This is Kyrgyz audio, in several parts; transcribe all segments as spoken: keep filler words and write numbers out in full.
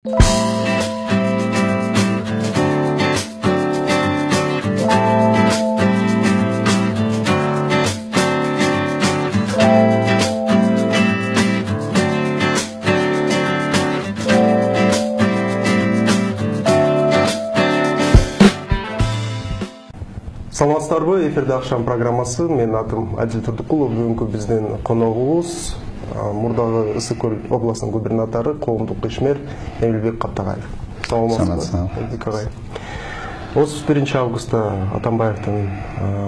Саламатсыздарбы, эфирде акшам программасы. Менин атым Адил Турдукулов. Бүгүнкү биздин коногубуз мурдагы Ысык Көл областынын губернатору, коомдук ишмер Эмилбек Каптагаев. Саламатсызбы. отуз биринчи августта Атамбаевдин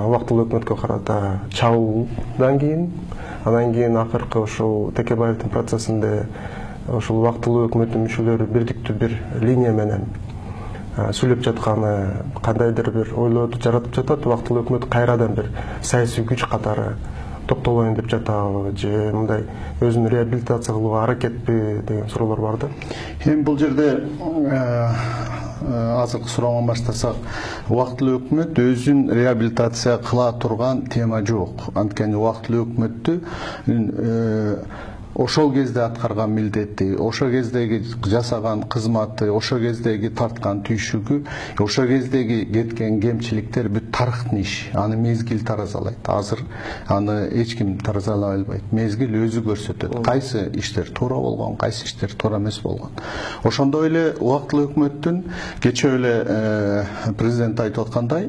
убактылуу өкмөткө карата чабуулдан кийин, анан кийин акыркы ушул Текебаевдин процессинде ушул убактылуу өкмөттүн мүчөлөрү бирдиктүү бир линия менен сүйлөп жатканы кандайдыр бир ойлорду жаратып жатат. Убактылуу өкмөт кайрадан бир саясий күч катары топтолоюн деп жатабы же мындай өзүн реабилитация кылууга аракетпи деген суроолор бар да. Эми бул жерде азыркы сурооңон баштасак, убактылуу өкмөт өзүн реабилитация кыла турган тема жок. Анткени убактылуу өкмөттү ошол кезде аткарган милдети, ошол кездеги жасаган кызматы, ошол кездеги тарткан түйшүгү, ошол кездеги кеткен кемчиликтер бүт тарыхтын иши. Аны мезгил таразалайт. Азыр аны эч ким таразалай албайт. Мезгил өзү көрсөтөт. Кайсы иштер туура болгон, кайсы иштер туура эмес болгон. Ошондой эле убактылуу өкмөттүн кечээ эле президент айтып аткандай,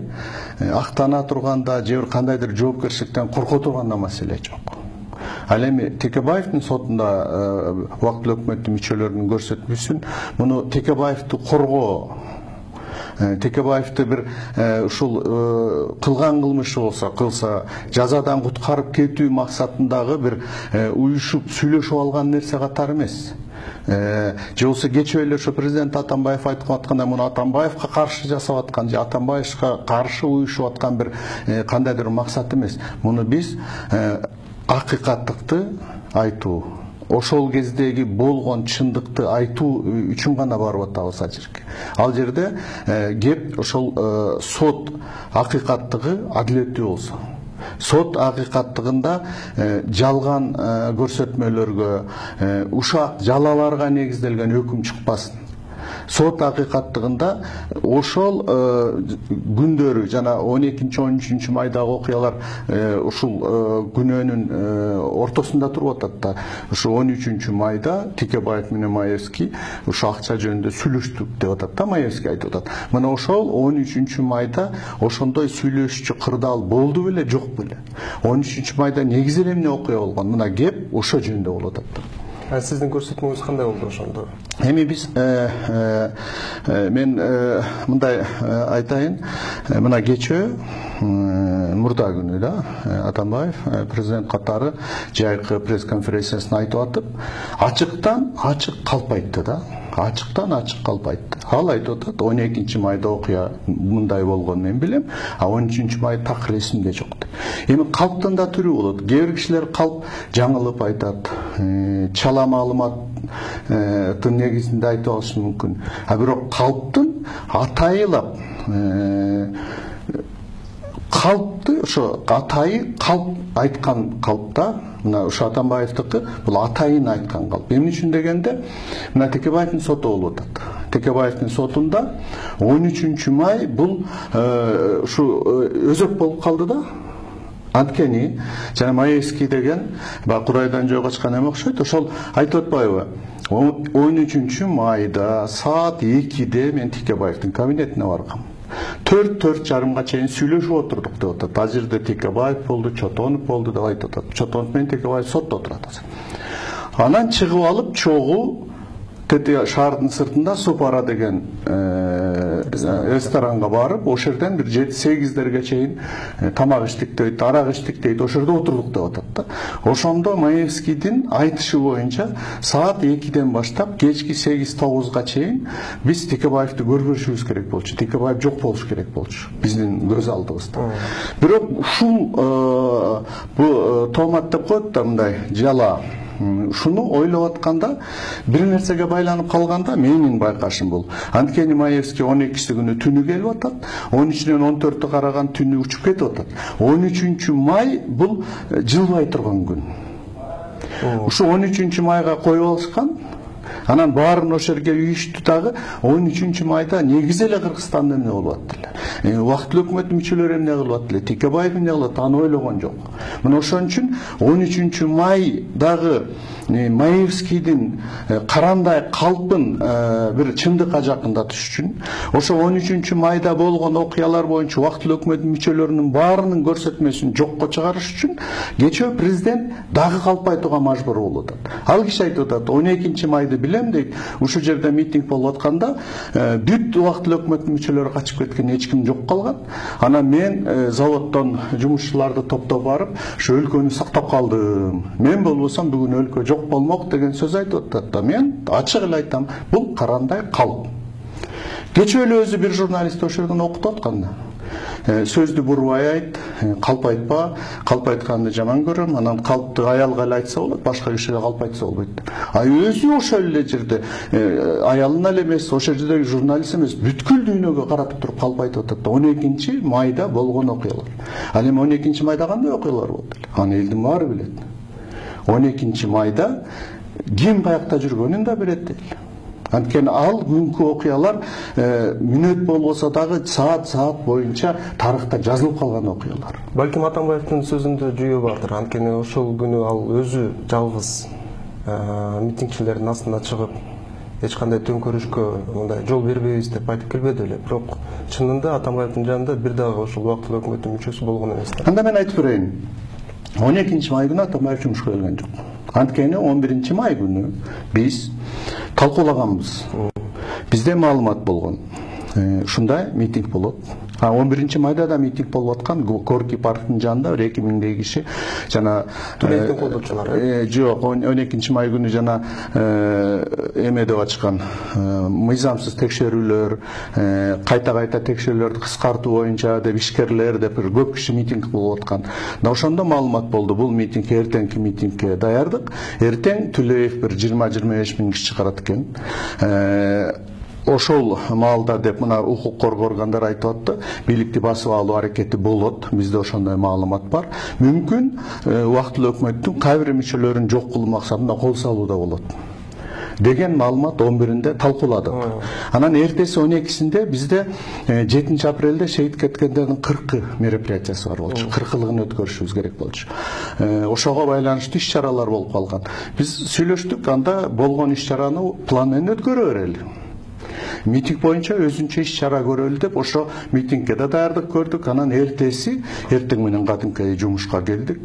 актана турганда же бир кандайдыр жоопкерчиликтен корко турганда маселе жок. Ал эми Текебаевдин сотунда убактылуу өкмөттүн мүчөлөрүнүн көрсөтмөсүн муну Текебаевди коргоо, Текебаевди бир ушул кылган кылмышы болсо кылса жазадан куткарып кетүү максатындагы бир уюшуп сүйлөшүп алган нерсе катары эмес. Же болсо кечээ эле ошо президент Атамбаев айтып аткандай, муну Атамбаевга каршы жасап аткан же Атамбаевга каршы уюшуп аткан бир кандайдыр максат эмес. Муну биз акыйкаттыкты айтуу, ошол кездеги болгон чындыкты айтуу үчүн гана барып атабыз ал жерге. Ал жерде кеп ошол сот акыйкаттыгы адилеттүү болсо, сот акыйкаттыгында жалган көрсөтмөлөргө, ушак жалаларга негизделген өкүм чыкпасын. Сот акыйкаттыгында ошол күндөрү жана он экинчи он үчүнчү майдагы окуялар ушул күнөөнүн ортосунда туруп атат да. Ушу он үчүнчү майда Текебаев менен Маевский ушу акча жөнүндө сүйлөштүк деп атат да, Маевский айтып атат. Мына ошол он үчүнчү майда ошондой сүйлөшчү кырдаал болду беле, жок беле? он үчүнчү майда негизи эле эмне окуя болгон? Мына кеп ошо жөнүндө болуп атат да. А сиздин көрсөтмөңүз кандай болду ошондо? Эми биз мен мындай айтайын, мына кечээ мурда күнү да Атамбаев президент катары жайкы пресс-конференциясында айтып атып, ачыктан ачык калп айтты да. Ачыктан ачык калп айтты. Ал айтып атат, он экинчи майда окуя мындай болгон мен билем, а он үчүнчү май так ресимде жок деп. Эми калптын да түрү болот. Кээ бир кишилер калп жаңылып айтат, чала маалыматтын негизинде айтып алышы мүмкүн. А бирок калптын атайылап калпты ошо атайы калп айткан калпта, мына ошо Атамбаевдики бул атайын айткан калп. Эмне үчүн дегенде, мына Текебаевдин соту болуп атат. Текебаевдин сотунда он үчүнчү май бул ушу өзөк болуп калды да. Анткени жана Маевский деген баягы Курайдан жөө качкан эме окшойт. Ошол айтып атпайбы? он үчүнчү майда саат экиде мен Текебаевдин кабинетине баргам. төрт төрт жарымга чейин сүйлөшүп отурдук деп атат. Ал жерде Текебаев болду, Чотонов болду деп айтып атат. Чотонов менен Текебаев сотто отурат азыр. Анан чыгып алып чогуу шаардын сыртында Супара деген ресторанга барып, ошол жерден бир жети сегиздерге чейин тамак иштик дейт, арак иштик дейт, ошол жерде отурдук деп атат да. Ошондо Маевскийдин айтышы боюнча саат экиден баштап кечки сегиз тогузга чейин биз Текебаевди көрбөшүбүз керек болчу. Текебаев жок болуш керек болчу биздин көз алдыбызда. Бирок ушул бул тоомат деп коет да, мындай жала. Шуну ойлоп атканда, бир нерсеге байланып калганда менин байкашым бул. Анткени Маевский он экиси күнү түнү келип атат, он үчүнөн он төрттү караган түнү учуп кетип атат. он үчүнчү май бул жылбай турган күн. Ушу он үчүнчү майга коюп алышкан. Анан баарын ошол жерге үйүштү дагы он үчүнчү майда негизи эле Кыргызстанда эмне болуп аттыр эле. Убактылуу өкмөттүн мүчөлөрү эмне кылып аттыр эле, Текебаев эмне кылып аттыр, аны ойлогон жок. Мына ошон үчүн он үчүнчү май дагы Маевскийдин карандай калпын бир чындыкка жакындатыш үчүн, ошо он үчүнчү майда болгон окуялар боюнча убактылуу өкмөттүн мүчөлөрүнүн баарынын көрсөтмөсүн жокко чыгарыш үчүн кечээ президент дагы калп айтууга мажбур болуп атат. Ал киши айтып атат, он экинчи майды билем дейт, ушул жерде митинг болуп атканда бүт убактылуу өкмөттүн мүчөлөрү качып кеткен, эч ким жок калган. Анан мен заводдон жумушчуларды топтоп барып, ушу өлкөнү сактап калдым. Мен болбосом бүгүн өлкө жок болмок деген сөз айтып атат да. Мен ачык эле айтам, бул карандай калп. Кечээ эле өзү бир журналист ошол жерден окутуп атканда. Сөздү бурбай айт, калп айтпа, калп айтканды жаман көрөм, анан калпты аялга эле айтса болот, башка кишиге калп айтса болбойт. А өзү ошол эле жерде аялына эле эмес, ошол жердеги журналист эмес, бүткүл дүйнөгө каратып туруп калп айтып атат да. он экинчи майда болгон окуялар. Ал эми он экинчи майда кандай окуялар болду эле? Аны элдин баары билет. он экинчи майда ким каякта жүргөнүн да билет эле. Анткени ал күнкү окуялар мүнөт болбосо дагы саат-саат боюнча тарыхта жазылып калган окуялар. Балким Атамбаевдин сөзүндө жүйө бардыр. Анткени ошол күнү ал өзү жалгыз митингчилердин астына чыгып, эч кандай төңкөрүшкө мындай жол бербейбиз деп айтып келбеди эле. Бирок чынында Атамбаевдин жанында бир дагы ошол убактылуу өкмөттүн мүчөсү болгон эмес. Анда мен айтып берейин. он экинчи май күнү Атамбаев жумушка келген жок. Анткени он биринчи май күнү биз талкуулаганбыз. Бизде маалымат болгон. Ушундай митинг болот. А он биринчи майда да митинг болуп аткан Горький парктын жанында бир эки миңдей киши жана Төлөевдин колдоочулары. Жок, он экинчи май күнү жана эме деп ачкан мыйзамсыз текшерүүлөр, кайта-кайта текшерүүлөрдү кыскартуу боюнча деп ишкерлер деп бир көп киши митинг болуп аткан. Да ошондо маалымат болду, бул митинг эртеңки митингке даярдык. Эртең Төлөев бир жыйырма жыйырма беш миң киши чыгарат экен. Ошол маалда деп мына укук коргоо органдары айтып атты, бийликти басып алуу аракети болот. Бизде ошондой маалымат бар. Мүмкүн убактылуу өкмөттүн кай бир мүчөлөрүн жок кылуу максатында кол салуу да болот деген маалымат он биринде талкууладык. Анан эртеси он экисинде бизде жетинчи апрелде шейит кеткендердин кыркы мероприятиясы бар болчу. кыркылыгын өткөрүшүбүз керек болчу. Ошого байланыштуу иш-чаралар болуп калган. Биз сүйлөштүк, анда болгон иш-чараны план менен өткөрө берели. Митинг боюнча өзүнчө иш-чара көрөлү деп ошо митингке да даярдык көрдүк. Анан эртеси эртең менен кадимки жумушка келдик.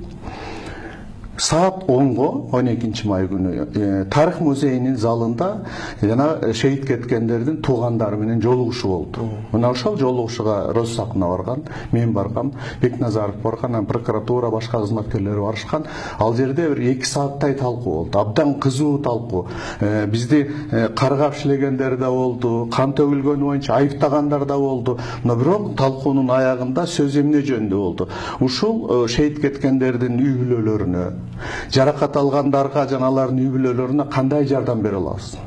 Саат онго он экинчи май күнү Тарых музейинин залында жана шейит кеткендердин туугандары менен жолугушуу болду. Мына ошол жолугушууга Россакына барган, мен баргам, Бекназаров барган, прокуратура башка кызматкерлери барышкан. Ал жерде бир эки сааттай талкуу болду. Абдан кызуу талкуу. Бизди каргап иштегендер да болду, кан төгүлгөнү боюнча айыптагандар да болду. Но бирок талкуунун аягында сөз эмне жөнүндө болду? Ушул шейит кеткендердин үй бүлөлөрүнө, жаракат алгандарга жана алардын үй бүлөлөрүнө кандай жардам бере алабыз?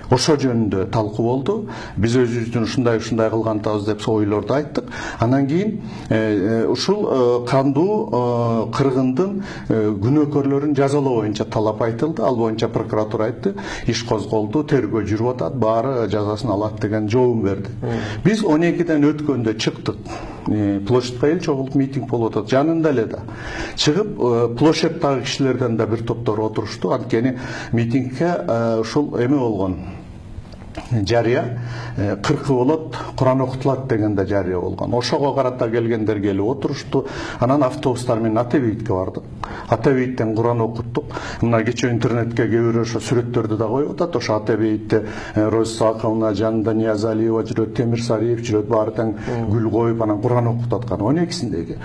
Ошо жөнүндө талкуу болду. Биз өзүбүздүн ушундай ушундай кылган атабыз деп ойлорду айттык. Анан кийин ушул кандуу кыргындын күнөөкөрлөрүн жазалоо боюнча талап айтылды. Ал боюнча прокуратура айтты, иш козголду, тергөө жүрүп атат, баары жазасын алат деген жообун берди. Биз он экиден өткөндө чыктык. Площадька эл чогулуп митинг болуп атат. Жанында эле да. Чыгып площадьтагы кишилерден да бир топтор отурушту. Анткени митингке ушул эме болгон. Жарыя кыркы болот, Куран окутулат деген да жарыя болгон. Ошого карата келгендер келип отурушту. Анан автобустар менен Ата-Бейитке бардык. Ата-Бейиттен Куран окуттук. Мына кечээ интернетке кээ бирөө ошо сүрөттөрдү да коюп атат. Ошо Ата-Бейитте Розсаковна, жанында Ниязалиева жүрөт, Темир Сариев жүрөт, баары тең гүл коюп анан Куран окутуп аткан он экисиндеги.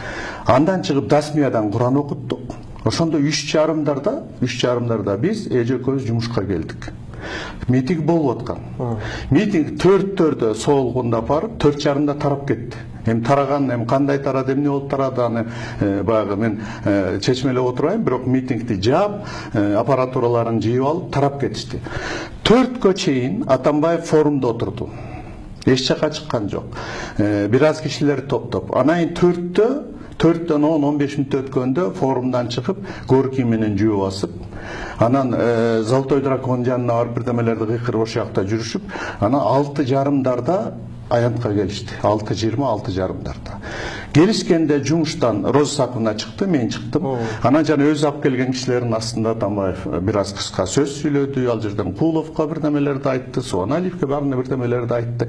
Андан чыгып Дасмиядан Куран окуттук. Ошондо үч жарымдарда, үч жарымдарда биз эжекөбүз жумушка келдик. Митинг болуп аткан. Митинг төрттөрдө соолгунда барып, төрт жарымда тарап кетти. Эми тараган, эми кандай тарады, эмне болуп тарады, аны баягы мен чечмелеп отурбайм, бирок митингди жаап, аппаратураларын жыйып алып тарап кетишти. Төрткө чейин Атамбаев форумда отурду. Эч жака чыккан жок. Бир аз кишилер топтоп. Анан төрттө төрттөн он он беш мүнөт өткөндө форумдан чыгып, Горький менен жөө басып, Анан Золотой дракон жанына барып бирдемелерди кыйкырып ошол жакта жүрүшүп, анан алты жарымдарда аянтка келишти. алты жыйырма алты жарымдарда. Келишкенде жумуштан Роза Сакуна чыкты, мен чыктым. Анан жана өзү алып келген кишилердин астында Атамбаев бир аз кыска сөз сүйлөдү, ал жерден Куловго бирдемелерди айтты, Суаналиевге баарына бирдемелерди айтты.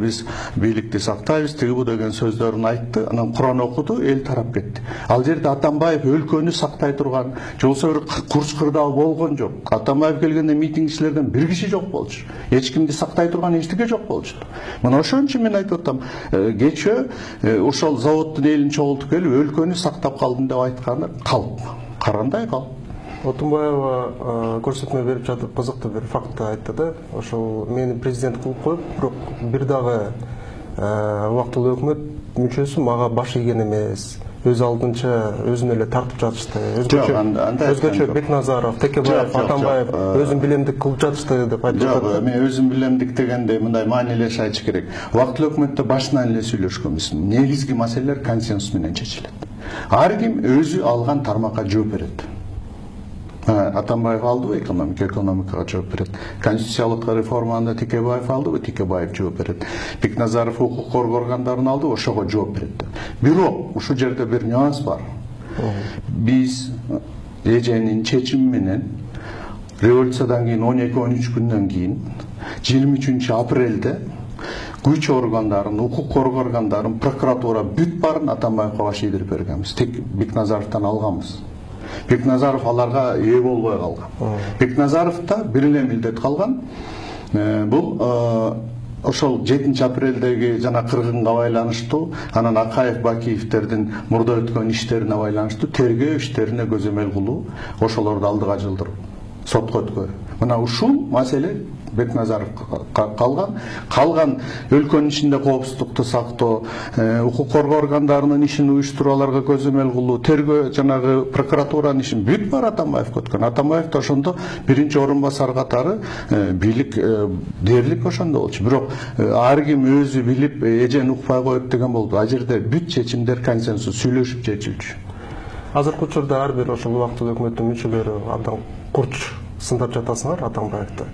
Биз бийликти сактайбыз, тиги бу деген сөздөрүн айтты. Анан Куран окуду, эл тарап кетти. Ал жерде Атамбаев өлкөнү сактай турган, жолсо бир курч кырдаал болгон жок. Атамбаев келгенде митингчилерден бир киши жок болчу. Эч кимди сактай турган эчтеке жок болчу. Мына ошон үчүн мен айтып атам, кечээ ошол заводдун элин чогултуп келип өлкөнү сактап калдым деп айтканы калп, карандай калп. Отунбаева көрсөтмө берип жатып кызыктуу бир факт айтты да. Ошол мени президент кылып коюп, бирок бир дагы убактылуу өкмөт мүчөсү мага баш ийген эмес. Өз алдынча өзүн эле тартып жатышты. Өзгөчө Бекназаров, Текебаев, Атамбаев өзүн билемдик кылып жатышты деп айтып жатат. Жок, мен өзүн билемдик дегенде мындай маанилеш айтыш керек. Убактылуу өкмөттө башынан эле сүйлөшкөнбүз. Негизги маселелер консенсус менен чечилет. Ар ким өзү алган тармакка жооп берет. Атамбаев алдыбы экономика, экономикага жооп берет. Конституциялык реформаны Текебаев алдыбы, Текебаев жооп берет. Бекназаров укук коргоо органдарын алды, ошого жооп берет. Бирок ушул жерде бир нюанс бар. Биз эженин чечими менен революциядан кийин он эки он үч күндөн кийин жыйырма үчүнчү апрелде күч органдарын, укук коргоо органдарын, прокуратура бүт баарын Атамбаевге баш ийдирип бергенбиз. Тек Бекназаровдон алганбыз. Бекназаров аларга ээ болбой калган. Бекназаровда бир эле милдет калган. Бул ошол жетинчи апрелдеги жана кыргынга байланыштуу, анан Акаев, Бакиевтердин мурда өткөн иштерине байланыштуу тергөө иштерине көзөмөл кылуу, ошолорду алдыга жылдыруу, сотко өткөрүү. Мына ушул маселе Бекназаров калган. Калган өлкөнүн ичинде коопсуздукту сактоо, укук коргоо органдарынын ишин уюштуруу, аларга көзөмөл кылуу, тергөө жанагы прокуратуранын ишин бүт бар Атамбаевге өткөн. Атамбаев да ошондо биринчи орун басар катары бийлик дээрлик ошондо болчу. Бирок ар ким өзү билип эжени укпай коет деген болду. А жерде бүт чечимдер консенсус сүйлөшүп чечилчү. Азыркы учурда ар бир ошол убактылуу өкмөттүн мүчөлөрү абдан курч сындап жатасыңар Атамбаевди.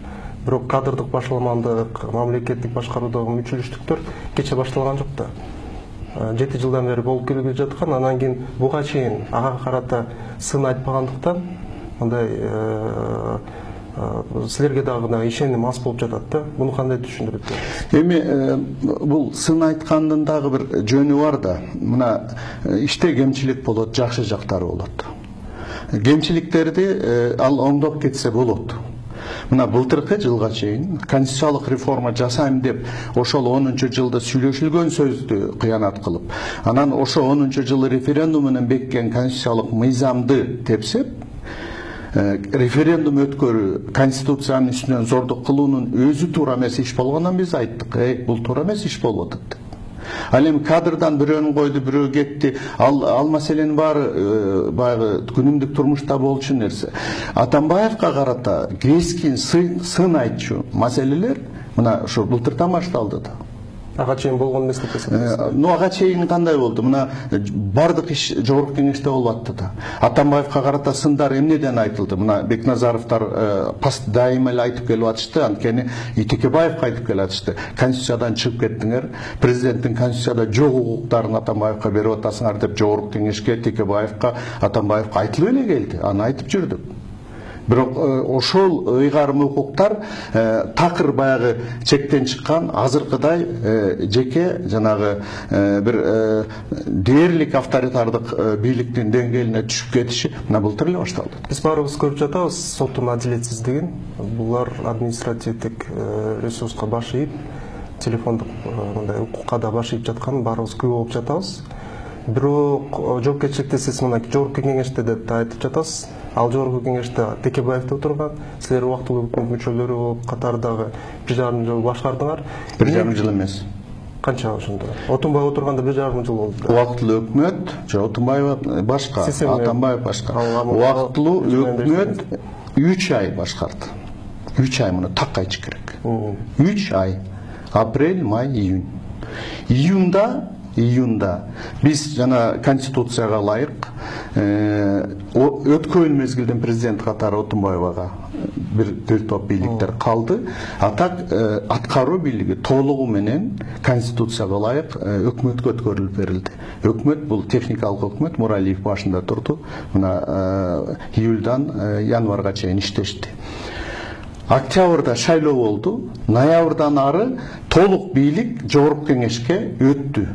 Бирок кадрдык башаламандык, мамлекеттик башкаруудагы мүчөлүштүктөр кече башталган жок да. жети жылдан бери болуп келип жаткан, анан кийин буга чейин ага карата сын айтпагандыктан мындай силерге дагы ишеним аз болуп жатат да. Буну кандай түшүндүрөт? Эми бул сын айткандын дагы бир жөнү бар да. Мына иште кемчилик болот, жакшы жактары болот. Кемчиликтерди ал оңдоп кетсе болот. Мына былтыркы жылга чейин конституциялык реформа жасайм деп ошол онунчу жылда сүйлөшүлгөн сөздү кыянат кылып, анан ошо онунчу жылы референдум менен беккен конституциялык мыйзамды тепсеп, референдум өткөрүү, конституциянын үстүнөн зордук кылуунун өзү туура эмес иш болгондон биз айттык, эй, бул туура эмес иш болуп атат. Ал эми кадрдан бирөөнү койду, бирөө кетти. Ал ал маселенин баары баягы күнүмдүк турмушта болчу нерсе. Атамбаевга карата кескин сын айтчу маселелер мына ошо былтырдан башталды да. Ага чейин болгон эмес деп эсептейсиз? Ну ага чейин кандай болду? Мына бардык иш жогорку кеңеште болуп атты да. Атамбаевга карата сындар эмнеден айтылды? Мына Бекназаровдор паст дайыма эле айтып келип атышты, анткени Текебаевга айтып келип атышты. Конституциядан чыгып кеттиңер, президенттин конституцияда жок укуктарын Атамбаевга берип атасыңар деп жогорку кеңешке, Текебаевга, Атамбаевга айтылып эле келди. Аны айтып жүрдүк. Бирок ошол ыйгарым укуктар такыр баягы чектен чыккан, азыркыдай жеке жанагы бир дээрлик авторитардык бийликтин деңгээлине түшүп кетиши мына былтыр эле башталды. Биз баарыбыз көрүп жатабыз соттун адилетсиздигин. Булар административдик ресурска баш ийип, телефондук мындай укукка да баш ийип жатканын баарыбыз күбө болуп жатабыз. Бирок жоопкерчиликти сиз мына жогорку кеңеште деп айтып жатасыз. Ал жогорку кеңеште Текебаев отурган, силер убактылуу өкмөт мүчөлөрү болуп катардагы бир жарым жыл башкардыңар. Бир жарым жыл эмес. Канча ошондо? Отунбаев отурганда бир жарым жыл болду. Убактылуу өкмөт, жок, Отунбаев башка, Атамбаев башка. Убактылуу өкмөт үч ай башкарды. үч ай муну так айтыш керек. үч ай. Апрель, май, июнь. Июнда июнда биз жана конституцияга ылайык өткөн мезгилден президент катары Отунбаевага бир бир топ бийликтер калды. А так аткаруу бийлиги толугу менен конституцияга ылайык өкмөткө өткөрүлүп берилди. Өкмөт бул техникалык өкмөт, Муралиев башында турду. Мына июльдан январга чейин иштешти. Октябрда шайлоо болду. Ноябрдан ары толук бийлик жогорку кеңешке өттү.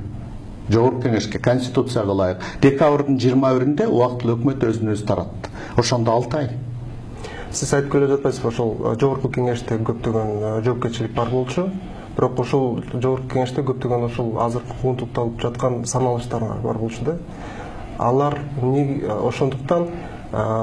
Жогорку кеңешке конституцияга ылайык. Декабрдын жыйырма биринде убактылуу өкмөт өзүн өзү таратты. Ошондо алты ай. Сиз айтып келе жатпайсызбы, ошол жогорку кеңеште көптөгөн жоопкерчилик бар болчу. Бирок ошол жогорку кеңеште көптөгөн ошол азыркы куугунтукталып жаткан саналыштар бар болчу да. Алар ошондуктан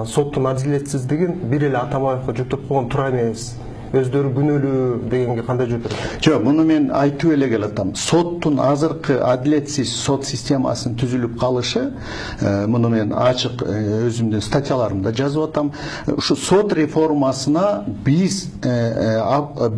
соттун адилетсиздигин бир эле Атамбаевге жүктөп койгон туура эмес. Өздөрү күнөөлүү дегенге кандай жооп бересиз? Жок, муну мен айтып эле келатам. Соттун азыркы адилетсиз сот системасынын түзүлүп калышы, муну мен ачык өзүмдүн статьяларымда жазып атам. Ушу сот реформасына биз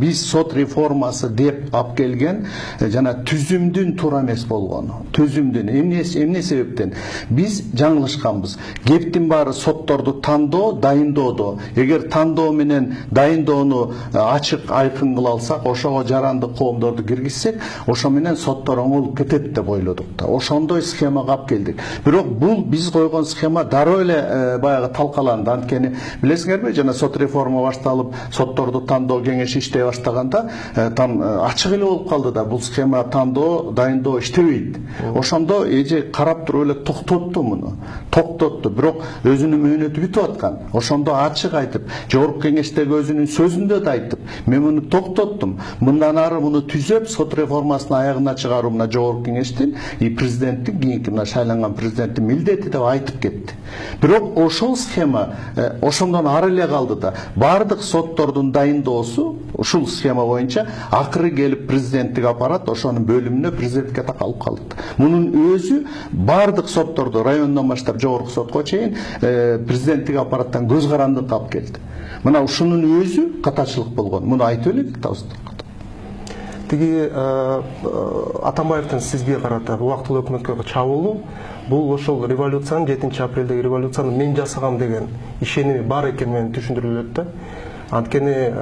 биз сот реформасы деп алып келген жана түзүмдүн туура эмес болгону. Түзүмдүн эмне эмне себептен биз жаңылышканбыз. Кептин баары сотторду тандоо, дайындоодо. Эгер тандоо менен дайындоону ачык айкын кыла алсак, ошого жарандык коомдорду киргизсек, ошо менен соттор оңолуп кетет деп ойлодук да. Ошондой схемага алып келдик. Бирок бул биз койгон схема дароо эле баягы талкаланды. Анткени билесиңерби, жана сот реформа башталып, сотторду тандоо кеңеши иштей баштаганда там ачык эле болуп калды да. Бул схема тандоо, дайындоо иштебейт. Ошондо эже карап туруп эле токтотту муну. Токтотту. Бирок өзүнүн мөөнөтү бүтүп аткан. Ошондо ачык айтып, жогорку кеңештеги өзүнүн сөзүндө айтып, мен муну токтоттум. Мындан ары муну түзөп, сот реформасын аягына чыгаруу мына жогорку кеңештин и президенттин, кийинки мына шайланган президенттин милдети деп айтып кетти. Бирок ошол схема ошондон ары эле калды да. Бардык соттордун дайындоосу ушул схема боюнча акыры келип президенттик аппарат ошонун бөлүмүнө президентке такалып калды. Мунун өзү бардык сотторду райондон баштап жогорку сотко чейин президенттик аппараттан көз карандыкка алып келди. Мына ушунун өзү катачылык болгон. Муну айтып эле кетабыз. Тиги Атамбаевдин сизге карата убактылуу өкмөткө чабуулу бул ошол революциянын жетинчи апрелдеги революцияны мен жасагам деген ишеними бар экени менен түшүндүрүлөт да. Анткени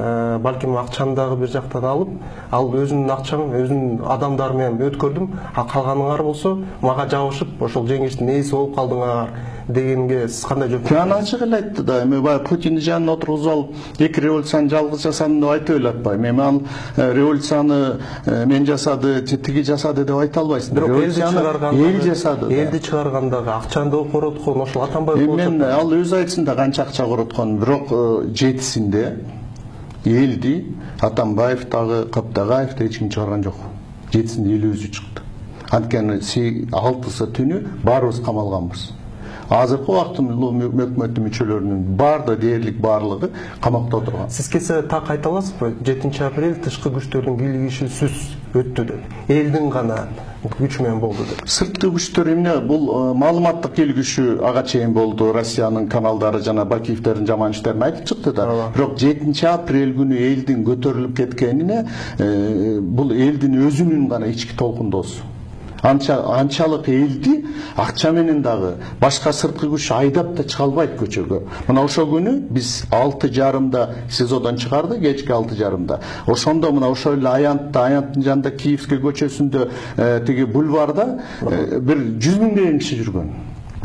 балким акчаны дагы бир жактан алып, ал өзүнүн акчамын, өзүнүн адамдары менен өткөрдүм, а калганыңар болсо мага жабышып, ошол жеңиштин ээси болуп калдыңар дегенге сиз кандай жооп бересиз? Аны ачык эле айтты да. Эми баягы Путиндин жанына отургузуп алып, эки революцияны жалгыз жасадым деп айтып эле атпайм. Эми ал революцияны мен жасады, тиги жасады деп айта албайсың. Революцияны эл жасады. Элди чыгаргандагы акчаны да короткон ошол Атамбаев болчу. Мен ал өзү айтсын да канча акча короткон, бирок жетисинде элди Атамбаев дагы, Каптагаев да эч ким чыгарган жок. Жетисинде эл өзү чыкты. Анткени алтысы түнү баарыбыз камалганбыз. Азыркы убактылуу өкмөттүн мүчөлөрүнүн баарды дээрлик баарлыгы камакта отурган. Сиз кесе так айта аласызбы? жетинчи апрель тышкы күчтөрдүн кийлигишүүсүз өттү деп. Элдин гана күчү менен болду деп. Сырткы күчтөр эмне? Бул маалыматтык кийлигишүү ага чейин болду. Россиянын каналдары жана Бакиевдердин жаман иштерин айтып чыкты да. Бирок жетинчи апрель күнү элдин көтөрүлүп кеткенине бул элдин өзүнүн гана ички толкундоосу. Анча анчалык элди акча менен дагы башка сырткы күч айдап да чыга албайт көчөгө. Мына ошол күнү биз алты жарымда СИЗОдон чыгарды, кечки алты жарымда. Ошондо мына ошол эле Аянтта, Аянттын жанында Киевский көчөсүндө тиги бульварда бир жүз миңдеген киши жүргөн.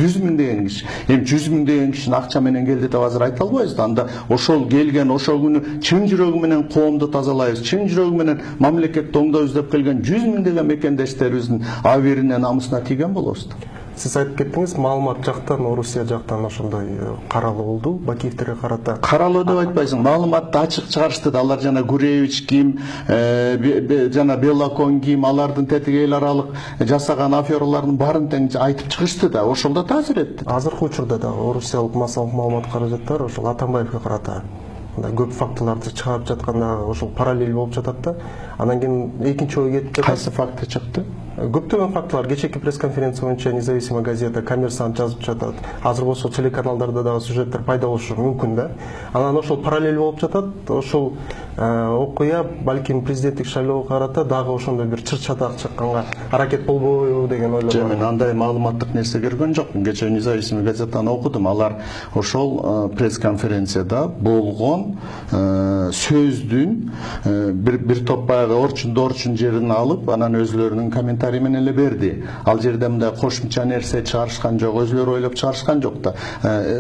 жүз миңдеген киши. Эми жүз миңдеген кишини акча менен келди деп азыр айта албайбыз да. Анда ошол келген, ошол күнү чын жүрөгү менен коомду тазалайбыз, чын жүрөгү менен мамлекетти оңдойбуз деп келген жүз миңдеген мекендештерибиздин аберине, намысына тийген болобуз да. Сиз айтып кеттиңиз, маалымат жактан, Орусия жактан ошондой каралуу болду, Бакиевтерге карата. Каралуу деп айтпайсың, маалыматты ачык чыгарышты да. Алар жана Гуревич ким, жана Белокон ким, алардын тетиги эл аралык жасаган афералардын баарын тең айтып чыгышты да. Ошолдо таасир этти. Азыркы учурда да Орусиялык массалык маалымат каражаттар ошол Атамбаевге карата көп фактыларды чыгарып жатканда ошол параллель болуп жатат да. Анан кийин экинчи ой кетти. Кайсы факты чыкты? Көптөгөн фактылар. Кечээки пресс-конференция боюнча Независимая газета, Коммерсант жазып жатат. Азыр болсо телеканалдарда дагы сюжеттер пайда болушу мүмкүн да. Анан ошол параллель болуп жатат. Ошол окуя балким президенттик шайлоого карата дагы ошондой бир чыр чатак чыкканга аракет болбойбу деген ойлор бар. Мен андай маалыматтык нерсе көргөн жокмун. Кечээ Независимый газетаны окудум. Алар ошол пресс-конференцияда болгон сөздүн бир бир топ баягы орчунду орчун жерин алып, анан өзлөрүнүн комментарий менен эле берди. Ал жерде мындай кошумча нерсе чыгарышкан жок, өзлөрү ойлоп чыгарышкан жок да.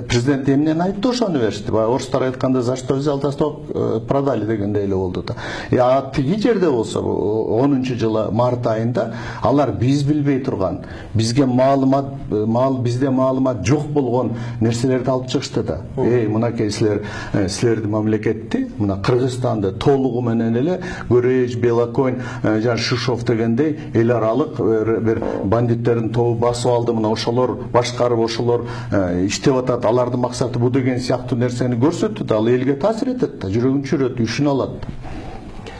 Президент эмнени айтты ошону беришти. Баягы орустар айтканда, за что взял Восток, продали дегендей эле болду да. А тиги жерде болсо онунчу жылы март айында алар биз билбей турган, бизге маалымат, маал бизде маалымат жок болгон нерселерди алып чыгышты да. Эй, мынакей силер, силердин мамлекетти, мына Кыргызстанды толугу менен эле Гөрөж, Белоконь, жана Шишов дегендей эл аралык бир бандиттердин тобу басып алды, мына ошолор башкарып, ошолор иштеп атат, алардын максаты бу деген сыяктуу нерсени көрсөттү да, ал элге таасир этет да, жүрөгүн чүйрөт, үшүн алат.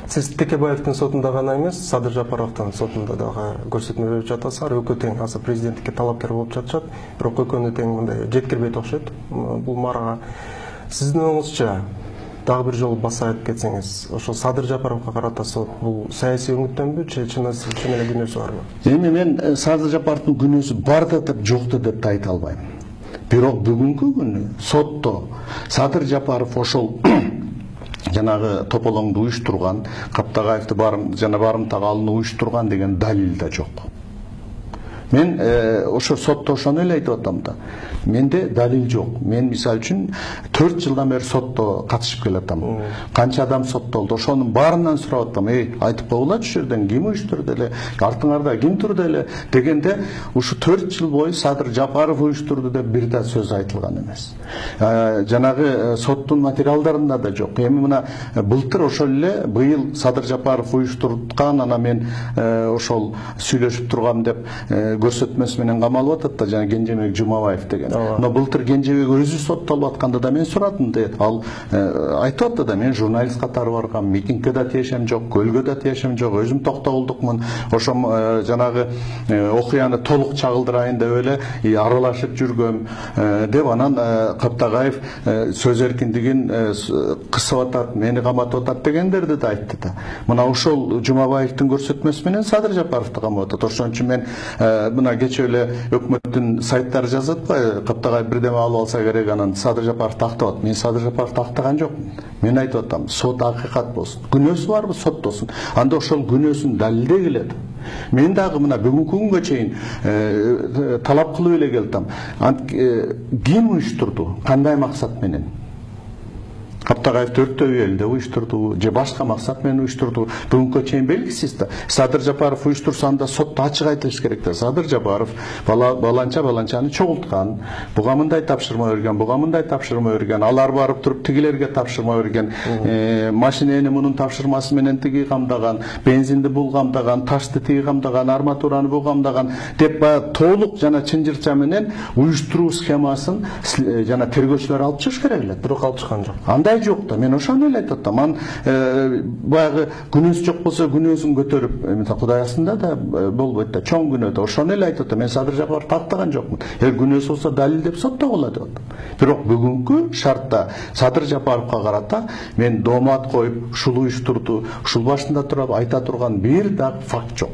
Сиз Текебаевдин сотунда гана эмес, Садыр Жапаровдун сотунда дагы көрсөтмө берип жатасыздар. Экөө тең, азыр президенттикке талапкер болуп жатышат, бирок экөөнү тең мындай жеткирбейт окшойт бул марага. Сиздин оңуңузча дагы бир жолу баса айтып кетсеңиз, ошол Садыр Жапаровго карата сот бул саясий үмүттөнбү, же чын эле күнөөсү барбы? Эми мен Садыр Жапаровдун күнөөсү бар да деп жокты деп айта албайм. Бирок бүгүнкү күнү сотто Садыр Жапаров ошол жанагы тополоңду уюштурган, Каптагаевди барым жана барымтага алууну уюштурган деген далил да жок. Мен ошо сотто ошону эле айтып атам да. Менде далил жок. Мен мисалы үчүн төрт жылдан бери сотто катышып келатам. Канча адам соттолду, ошонун баарынан сурап атам. Эй, айтып койгула чу жерден ким уюштурду эле, артыңарда ким турду эле дегенде ушу төрт жыл бою Садыр Жапаров уюштурду деп бир да сөз айтылган эмес. Жанагы соттун материалдарында да жок. Эми мына былтыр ошол эле быйыл Садыр Жапаров уюштурткан, анан мен ошол сүйлөшүп тургам деп көрсөтмөсү менен камалып атат да, жана Кенжебек Жумабаев деген. Но былтыр Кенжебек өзү соттолуп атканда да мен сурадым дейт. Ал айтып атты да, мен журналист катары баргам, митингге да тиешем жок, көлгө да тиешем жок, өзүм токтогулдукмун. Ошом жанагы окуяны толук чагылдырайын деп эле аралашып жүргөм деп, анан Каптагаев сөз эркиндигин кысып атат, мени каматып атат дегендерди да айтты да. Мына ошол Жумабаевдин көрсөтмөсү менен Садыр Жапаровду камап атат. Ошон үчүн мен мына кечээ эле өкмөттүн сайттары жазат атпайбы, Каптагаев бирдеме алып алса керек, анан Садыр Жапаров тактап. Мен Садыр Жапаров тактаган жокмун. Мен айтып атам, сот акыйкат болсун. Күнөөсү барбы, соттосун. Анда ошол күнөөсүн далилдей келет. Мен дагы мына бүгүнкү күнгө чейин талап кылып эле келдим. Ким уюштурду? Кандай максат менен? Каптагаев төрттөбү элде уюштурду, же башка максат менен уюштурду, бүгүнкү чейин белгисиз да. Садыр Жапаров уюштурса, анда сотто ачык айтылыш керек да. Садыр Жапаров баланча баланчаны чогулткан, буга мындай тапшырма берген, буга мындай тапшырма берген, алар барып туруп тигилерге тапшырма берген, машинени мунун тапшырмасы менен тиги камдаган, бензинди бул камдаган, ташты тиги камдаган, арматураны бул камдаган деп баягы толук жана чынжырча менен уюштуруу схемасын жана тергөөчүлөр алып чыгыш керек эле. Бирок алып чыккан жок. Андай жок да. Мен ошону эле айтып атам. Ан баягы күнөөсү жок болсо күнөөсүн көтөрүп, мисалы Кудай астында да болбойт да, чоң күнөө да. Ошону эле айтып атам. Мен Садыр Жапаров тактаган жокмун. Эгер күнөөсү болсо далилдеп соттогула деп атам. Бирок бүгүнкү шартта Садыр Жапаровго карата мен доомат коюп, ушул уюштурду, ушул башында туруп айта турган бир да факт жок.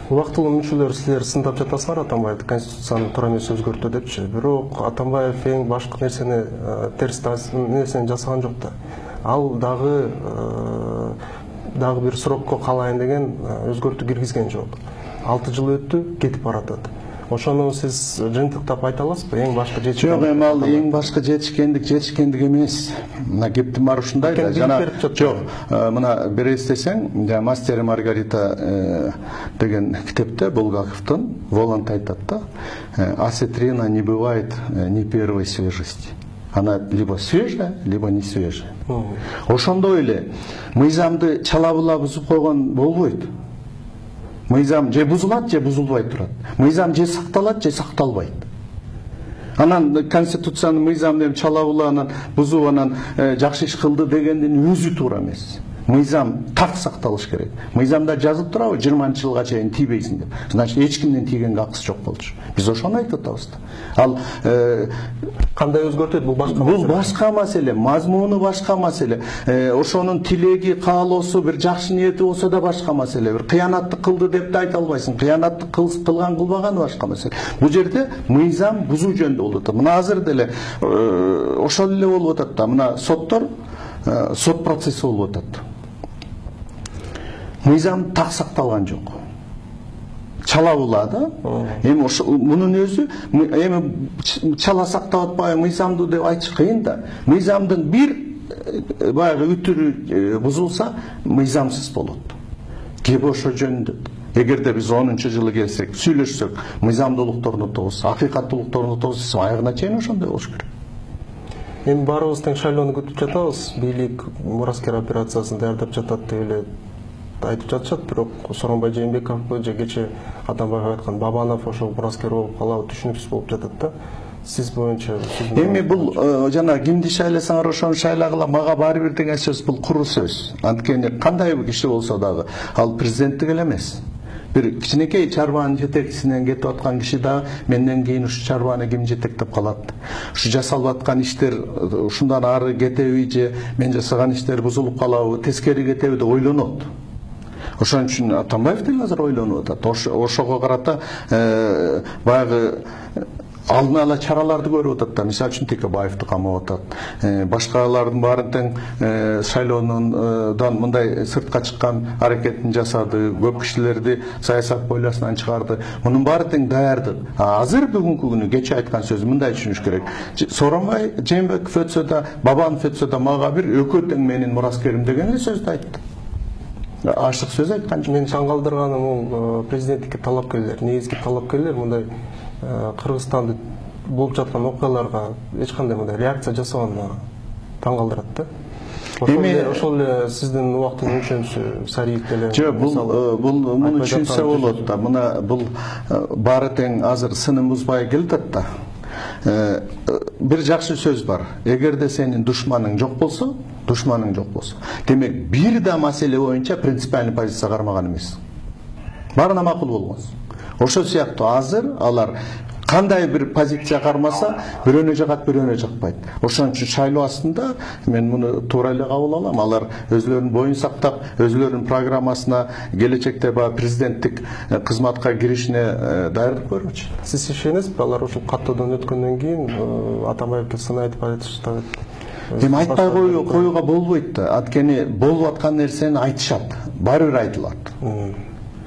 Убактылуу мүчөлөр силер сындап жатасыңар Атамбаевди конституцияны туура эмес өзгөртүү депчи. Бирок Атамбаев эң башкы нерсени терс нерсени жасаган жок да. Ал дагы дагы бир срокко калайын деген өзгөртүү киргизген жок. алты жыл өттү, кетип баратат. Ошону сиз жыйынтыктап айта аласызбы? Эң башкы жетишкендик. Жок, эми ал эң башкы жетишкендик, жетишкендик эмес. Мына кептин баары ушундай да. Жана жок, мына бир эстесең, жана Мастер и Маргарита деген китепте Булгаковдун Воланд айтат да, осетрина не бывает ни первой свежести. Она либо свежая, либо не свежая. Ошондой эле мыйзамды чала-була бузуп койгон болбойт. Мыйзам же бузулат, же бузулбай турат. Мыйзам же сакталат, же сакталбайт. Анан конституциянын мыйзам деп чала-була анан бузуп анан жакшы иш кылды дегендин өзү туура эмес. мыйзам так сакталыш керек. Мыйзамда жазып турабы жыйырманчы жылга чейин тийбейсиң деп. Значит, эч кимдин тийгенге акысы жок болчу. Биз ошону айтып атабыз да. Ал кандай өзгөртөт бул башка маселе. Бул башка маселе, мазмуну башка маселе. Ошонун тилеги, каалоосу, бир жакшы ниети болсо да башка маселе. Бир кыянаттык кылды деп да айта албайсың. Кыянаттык кылган кылбаганы башка маселе. Бул жерде мыйзам бузуу жөнүндө болуп атат. Мына азыр деле ошол эле болуп атат да. Мына соттор сот процесси болуп атат. Мыйзам так сакталган жок. Чала була да. Эми ошо мунун өзү эми чала сактап атпайбы мыйзамды деп айтыш кыйын да. Мыйзамдын бир баягы үтүрү бузулса, мыйзамсыз болот. Кеп ошо жөнүндө. Эгерде биз онунчу жылы келсек, сүйлөшсөк, мыйзамдуулукту орнотобуз, акыйкаттуулукту орнотобуз, аягына чейин ошондой болуш керек. Эми баарыбыз тең шайлоону күтүп жатабыз. Бийлик мураскер операциясын даярдап жатат деп эле айтып жатышат, бирок Сооронбай Жээнбековго же кече Атамбаев айткан Бабанов ошол мураскер болуп калабы түшүнүксүз болуп жатат да. Сиз боюнча эми бул жана кимди шайласаңар ошону шайлагыла, мага баары бир деген сөз, бул куру сөз. Анткени кандай киши болсо дагы ал президенттик эле эмес. Бир кичинекей чарбанын жетекчисинен кетип аткан киши да менден кийин ушу чарбаны ким жетектеп калат? Ушу жасалып аткан иштер ушундан ары кетеби же мен жасаган иштер бузулуп калабы, тескери кетеби деп ойлонот. Ошон үчүн Атамбаев деле азыр ойлонуп атат. Ошого карата баягы алдын ала чараларды көрүп атат да. Мисалы үчүн Текебаевди камап атат. Башкалардын баарын тең шайлоонун мындай сыртка чыккан аракетин жасады, көп кишилерди саясат бойласынан чыгарды. Мунун баары тең даярдык. Азыр бүгүнкү күнү кече айткан сөзү мындай түшүнүш керек. Сооронбай Жээнбеков өтсө да, Бабанов өтсө да мага бир экөө тең менин мураскерим деген эле сөздү айтты. Ашык сөз айткан жок. Мен таң калтырганым бул президенттикке талапкерлер, негизги талапкерлер мындай Кыргызстанда болуп жаткан окуяларга эч кандай мындай реакция жасабаганы таң калтырат да. Ошол эле сиздин убактын өлчөмүсү Сариев деле. Жок, бул бул муну түшүнсө болот да. Мына бул баары тең азыр сынын бузбай келатат да. Бир жакшы сөз бар. Эгерде сенин душманың жок болсо, душманың жок болсо, демек бир да маселе боюнча принципиальный позиция кармаган эмес. Баарына макул болгонсуң. Ошол сыяктуу азыр алар кандай бир позиция кармаса, бирөөнө жагат, бирөөнө жакпайт. Ошон үчүн шайлоо астында мен муну туура эле кабыл алам. Алар өзлөрүнүн боюн сактап, өзлөрүнүн программасына келечекте ба президенттик кызматка киришине даярдык көрмөкчү. Сиз ишенесизби, алар ушул каттоодон өткөндөн кийин Атамбаевге сын айтып айтышты? Эми айтпай коюуга болбойт да. Анткени болуп аткан нерсени айтышат, баары бир айтылат.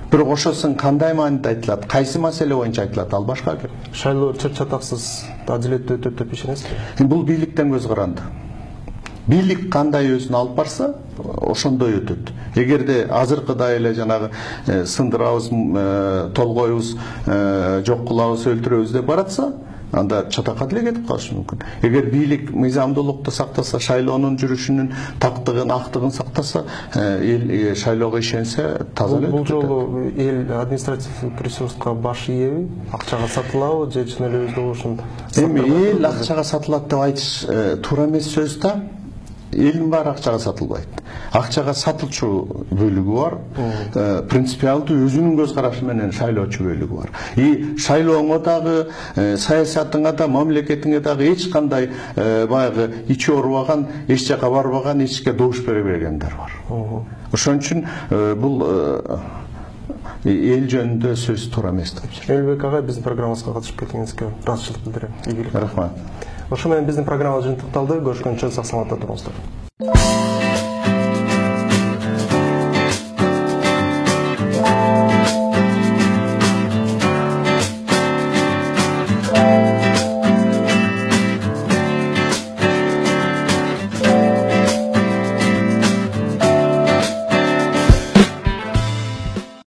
Бирок ошосын кандай мааниде айтылат, кайсы маселе боюнча айтылат, ал башка геп. Шайлоо чыр-чатаксыз, адилеттүү өтөт деп ишенесизби? Бул бийликтен көз каранды. Бийлик кандай өзүн алып барса, ошондой өтөт. Эгерде азыркыдай эле жанагы сындырабыз, толгойбуз, жок кылабыз, өлтүрөбүз деп баратса, анда чатакка деле кетип калышы мүмкүн. Эгер бийлик мыйзамдуулукту сактаса, шайлоонун жүрүшүнүн тактыгын, актыгын сактаса, эл шайлоого ишенсе, таза эле. Бул жолу эл административдик ресурска баш ийеби? Акчага сатылабы же чын эле өздү болушун? Эми эл акчага сатылат деп айтыш туура эмес сөз да. Элдин баары акчага сатылбайт. Акчага сатылчу бөлүгү бар, принципиалдуу өзүнүн көз карашы менен шайлоочу бөлүгү бар. И шайлооңо дагы, саясатыңа да, мамлекетиңе дагы эч кандай баягы ичи оорубаган, эч жака барбаган, эчке добуш бере бергендер бар. Ошон үчүн бул эл жөнүндө сөз туура эмес деп жүрөм. Элбек агай, биздин программабызга катышып кеткениңизге ыраазычылык билдирем. Рахмат. Ошо менен биздин программа жыйынтыкталды. Көрүшкөнчө сак саламатта туруңуздар.